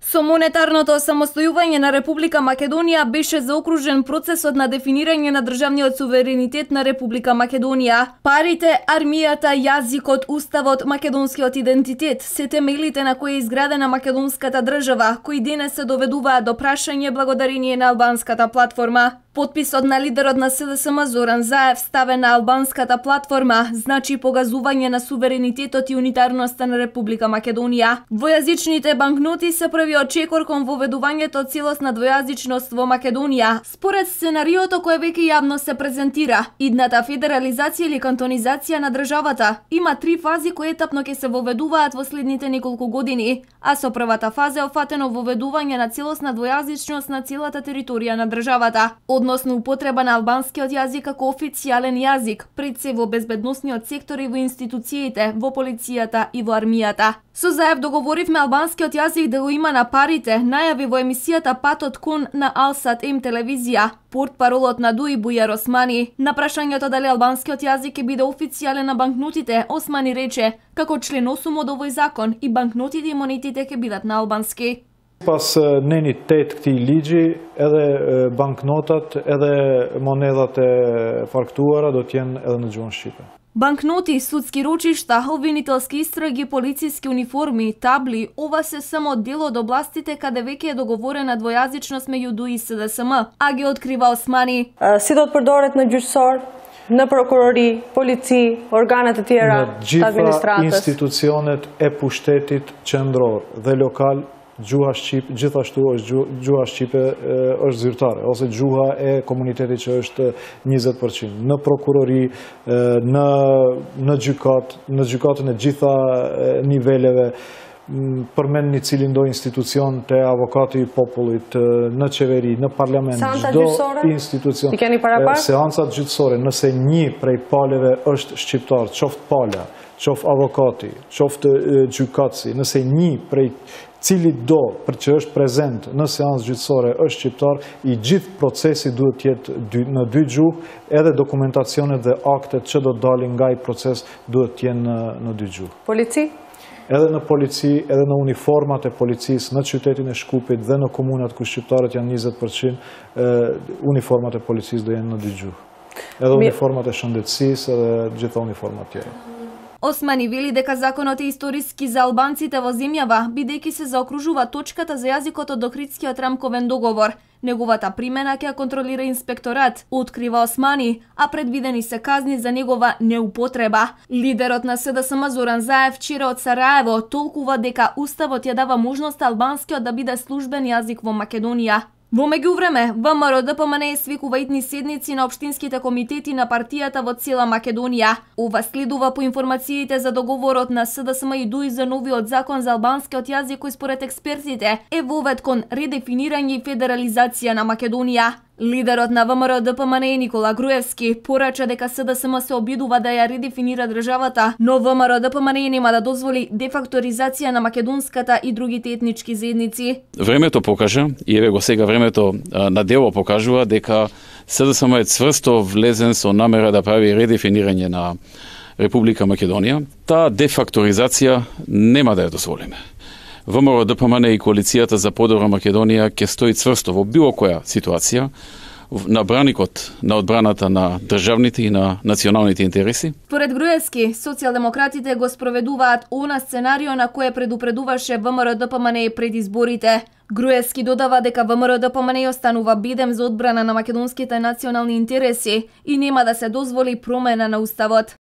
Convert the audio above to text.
Со монетарното самостојување на Република Македонија беше заокружен процесот на дефинирање на државниот суверенитет на Република Македонија. Парите, армијата, јазикот, уставот, македонскиот идентитет се темелите на кои е изградена македонската држава, кои денес се доведуваат до прашање благодарение на албанската платформа. Потписот на лидерот на СДСМ Зоран Заев ставен на албанската платформа значи погазување на суверенитетот и унитарноста на Република Македонија. Двојазичните банкноти се првиот чекор кон воведувањето целосна двојазичност во Македонија. Според сценариото кое веќе јавно се презентира, идната федерализација или кантонизација на државата има 3 фази кои етапно ќе се воведуваат во следните неколку години, а со првата фаза е офатено воведување на целосна двојазичност на целата територија на државата, односно употреба на албанскиот јазик како официјален јазик, пред се во безбедносниот сектор и во институциите, во полицијата и во армијата. Со Заев договоривме албанскиот јазик да го има на парите, најави во емисијата Патот кон на Алсат М телевизија. Портпаролот на ДУИ Бујар Османи на прашањето дали албанскиот јазик ќе биде официјален на банкнотите, Османи рече како член 8 од овој закон и банкнотите и монетите ќе бидат на албански. Pas nenitet këtij ligji, edhe banknotat, edhe monedat e faktuara do të jenë edhe në gjuhën shqipe. Банкноти, судски рочишта, обвинителски истраги, полициски униформи, табли, ова се само дел од областите каде веќе е договорена двојазичност меѓу ДУИ и СДСМ, а ги открива Османи. Si do të përdoret në gjyqësor, në prokurori, polici, organet e tjera të administratës. Në gjitha institucionet e pushtetit qendror dhe lokal, gjuha shqipe, gjithashtu është gjuha shqipe është zyrtare, ose gjuha e komunitetit që është 20%. Në prokurori, në gjykatën e gjitha niveleve, përmend një cilin do institucion të avokati i popullit, në qeveri, në parlament, çdo institucion. Seancat gjyqësore, nëse një prej paleve është shqiptar, qoftë pala, qoftë avokati, qoftë gjykatësi, nëse një prej cili do për që është prezent në seancë gjyqësore është shqiptar, i gjithë procesi duhet jetë në 2 gjuhë, edhe dokumentacionet dhe aktet që do dalin nga i proces duhet jenë në 2 gjuhë. Polici? Edhe në polici, edhe në uniformat e policisë, në qytetin e Shkupit dhe në komunat ku shqiptarët janë 20%, uniformat e policisë do jenë në 2 gjuhë. Edhe uniformat e shëndetësisë edhe gjitha uniformat tjera. Османи вели дека законот е историски за албанците во земјава, бидејќи се заокружува точката за јазикот од Охридскиот рамковен договор. Неговата примена ќе контролира инспекторат, открива Османи, а предвидени се казни за негова неупотреба. Лидерот на СДСМ Зоран Заев вчера од Сараево толкува дека уставот ја дава можност албанскиот да биде службен јазик во Македонија. Во меѓувреме, ВМРО ДПМН свикува итни седници на општинските комитети на партијата во цела Македонија. Ова следува по информациите за договорот на СДСМ и ДУИ за новиот закон за албанскиот јазик кој според експертите е вовед кон редефинирање и федерализација на Македонија. Лидерот на ВМРО ДПМН Никола Груевски порача дека СДСМ се обидува да ја редефинира државата, но ВМРО ДПМН нема да дозволи дефакторизација на македонската и другите етнички заедници. Времето покажа, и еве го сега времето на дело покажува дека СДСМ е цврсто влезен со намера да прави редефинирање на Република Македонија. Таа дефакторизација нема да ја дозволиме. ВМРО ДПМН и коалицијата за подобра Македонија ќе стои цврсто во било која ситуација на браникот на одбраната на државните и на националните интереси. Според Груевски, социјалдемократите го спроведуваат она сценарио на кое предупредуваше ВМРО ДПМН пред изборите. Груевски додава дека ВМРО ДПМН останува бедем за одбрана на македонските национални интереси и нема да се дозволи промена на уставот.